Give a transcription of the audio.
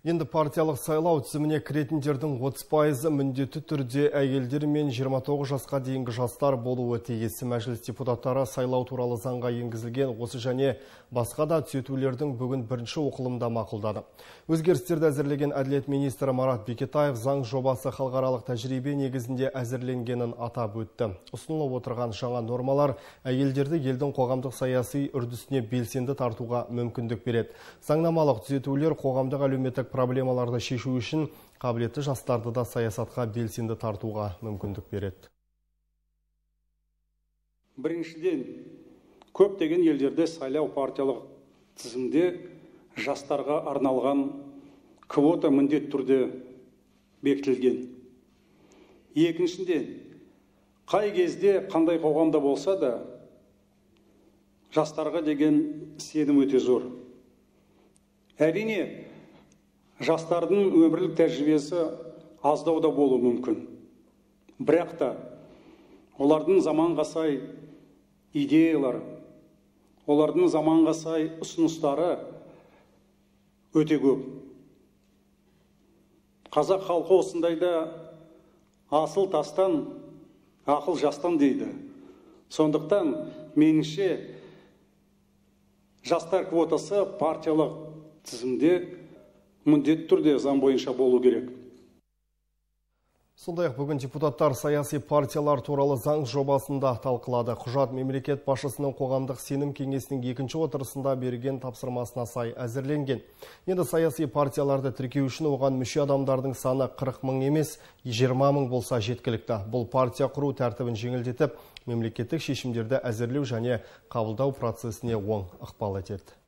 Енді партиялық сайлау тізіміне кіретіндердің 30% міндетті түрде әйелдер мен 29 жасқа дейінгі жастар болуы тиіс. Мәжіліс депутаттары сайлау туралы заңға енгізілген осы және басқа да түзетулердің бүгін бірінші оқылымда мақұлдады. Өзгерістерді әзірлеген әділет министрі Марат Бекетаев заң жобасы халықаралық тәжірибе негізінде әзірленгенін атап өтті. Ұсынылып отырған жаңа нормалар әйелдерді елдің қоғамдық саяси үрдісіне белсенді тартуға мүмкіндік береді. Заңнамалық түзетулер қоғамдық әлеуметтік проблемаларды шешу үшін қабілетті жастарды да саясатқа белсенді тартуға мүмкіндік береді. Біріншіден, көптеген елдерде сайлау партиялық тізімде жастарға арналған квота міндетті түрде бекітілген. Екіншіден, қай кезде қандай қоғамда болса да жастарға деген сенім өте зор. Әрине, жастардың өмірлік тәжірибесі аздау да болуы мүмкін. Бірақ та олардың заманға сай идеялары, олардың заманға сай ұсыныстары өте көп. Қазақ халқы осындайда асыл тастан, ақыл жастан дейді. Сондықтан меніңше жастар квотасы партиялық тізімде міндетті түрде заң бойынша болу керек. Сондай-ақ бүгін депутаттар саяси партиялар туралы заң жобасында талқылады. Құжат мемлекет басшысының қоғамдық сенім кеңесінің екінші отырысында берген тапсырмасына сай әзірленген. Енді саяси партияларды тіркеу үшін оған мүше адамдардың саны 40 мың емес, 20 мың болса жеткілікті. Бұл партия құру тәртібін жеңілдетіп, мемлекеттік шешімдерді әзірлеу және қабылдау процесіне оң ықпал етеді.